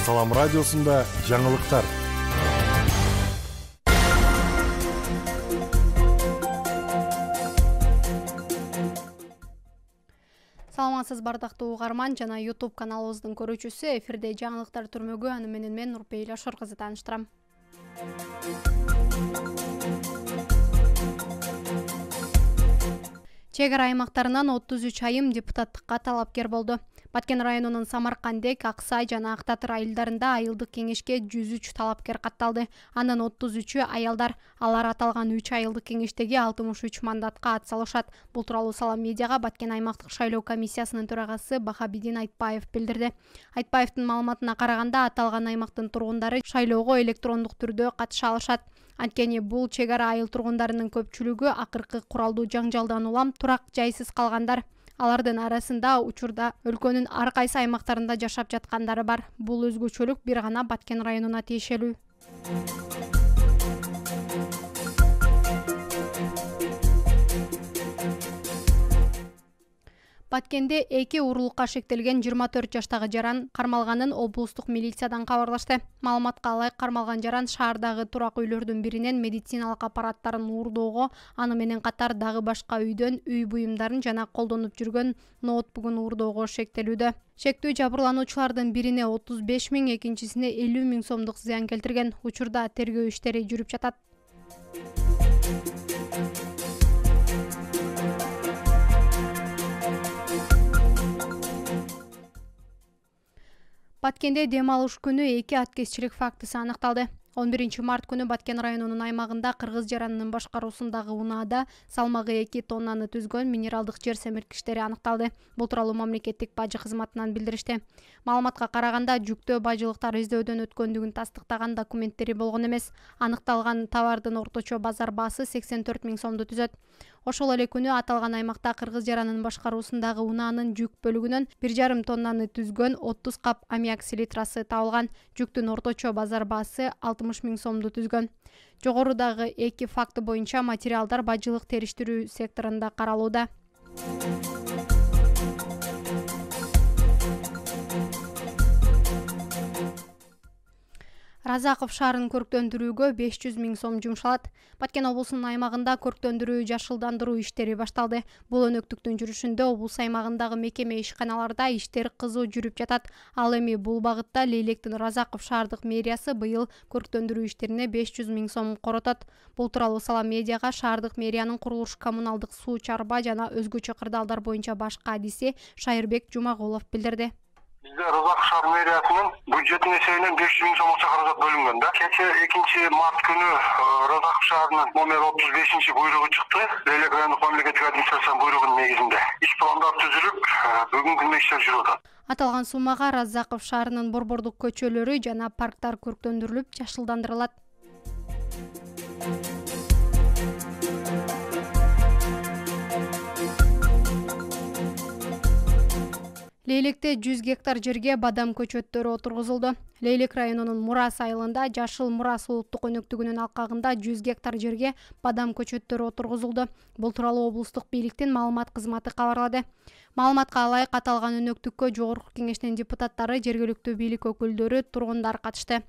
Салам радиосунда жаңылыктар. Саламатсыз бардактуу угарман жана YouTube каналыбыздын көрүүчүсү. Эфирде жаңылыктар түрмөгү, аны менен мен Нурпейла Шор кызы тааныштырам. Чек ара аймактарынан 33 айым депутаттыкка талапкер болду. Баткен районунун Самаркандек, Аксай жана Ак Татыр айылдарында айылдык кеңешке 103 талапкер катталды. Анын 33-ү аялдар. Алар аталган 3 айылдык кеңештеги 63 мандатка ат салышат. Бул тууралуу Салам медиага Баткен аймактык шайлоо комиссиясынын төрагасы Бахабидин Айтбаев билдирди. Айтбаевдин маалыматына караганда, аталган аймактын тургундары шайлоого электрондук түрдө катыша алышат. Анткени бул чек ара айыл тургундарынын көпчүлүгү акыркы куралдуу жаңжалдан улам турак жайсыз калгандар. Алардын арасында учурда өлкөнүн ар кайсы аймактарында жашап жаткандары бар. Бул өзгөчөлүк бир гана Баткен районуна тиешелүү. Баткенде 2 уурулукка шектелген 24 жаштагы жаран кармалганын облустук милициядан кабарлашты. Маалыматка ылайык, кармалган жаран шаардагы турак үйлөрдүн биринен медициналык аппараттарын уурдоого, аны менен катар дагы башка үйдөн үй буюмдарын жана колдонуп жүргөн ноутбугун уурдоого шектелүүдө. Шектүү жабырлануучулардын бирине 35 000, экинчисине 50 000 сомдук зыян келтирген. Учурда тергөө иштери жүрүп жатат. Баткенде дем алыш күнү 2 аткезчилик фактысы аныкталды. 11 март күнү Баткен районунун аймагында кыргыз жаранынын башкаруусундагы унаада салмагы 2 тоннаны түзгөн минералдык жер семирткичтери аныкталды. Бул тууралуу мамлекеттик бажы кызматынан билдиришти. Маалыматка караганда, жүктөө бажылыктар издөөдөн өткөндүгүн тастыктаган документтери болгон эмес. Аныкталган товардын орточо базар баасы 84 000 сомду түзөт. Ошол эле күнү аталган аймакта кыргыз жаранынын башкаруусундагы унаанын жүк бөлүгүнөн 1,5 тоннаны түзгөн 30 кап аммиак селитрасы табылган. Жүктүн орточо базар баасы 60 000 сомду түзгөн. Жогорудагы 2 факты боюнча материалдар бажылык териштирүү секторунда каралууда. Разаков шаарын көрктөндүрүүгө 500 000 сом жумшалат. Баткен облусунун аймагында көрктөндүрүү жашылдандыруу иштери башталды. Бул өнөктүктүн жүрүшүндө облус аймагындагы мекеме ишканаларда иштер кызуу жүрүп жатат. Ал эми бул багытта Лейлектин Разаков шаардык мэриясы быйыл көрктөндүрүү иштерине 500 000 сом коротот. Бул тууралуу Салам медиага шаардык мэриянын курулуш, коммуналдык, суу чарба жана өзгөчө кырдаалдар боюнча башкы адиси Шайырбек Жумагулов билдирди. Бизде Разаков шаар мэриясынын бюджетин эсебинен 500 000 сом каражат бөлүнгөн да. Кече 2 март күнү Разаков шаарынын номер 35 буйругу чыкты. Лейлек райондук мамлекеттик администрациянын буйругунун негизинде иш пландар түзүлүп, бүгүнкү күндө иштер жүрүп атат. Аталган суммага Разаков шаарынын борбордук көчөлөрү жана парктар көрктөндүрүлүп, жашылдандырылат. Лейлекте 100 гектар жерге бадам көчөттөрү отургузулду. Лейлек районунун Мурас айылында Жашыл Мурас улуттук өнөктүгүнүн алкагында 100 гектар жерге бадам көчөттөрү отургузулду. Бул тууралуу облустук бийликтин маалымат кызматы кабарлады. Маалыматка ылайык, аталган өнөктүккө жогорку кеңештин депутаттары, жергиликтүү бийлик өкүлдөрү, тургундар катышты.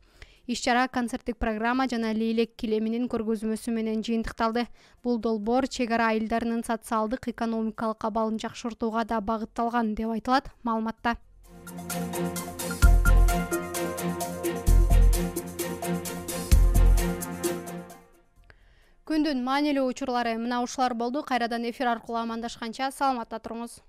Иш-чара концерттик программа жана Лейлек килеминин көргөзмөсү менен жыйынтыкталды. Бул долбоор чек ара айылдарынын социалдык, экономикалык абалын жакшыртууга да багытталган деп айтылат маалыматта. Күндүн маанилүү учурлары мына ушулар болду. Кайрадан эфир аркылуу амандашканча саламатта туруңуз.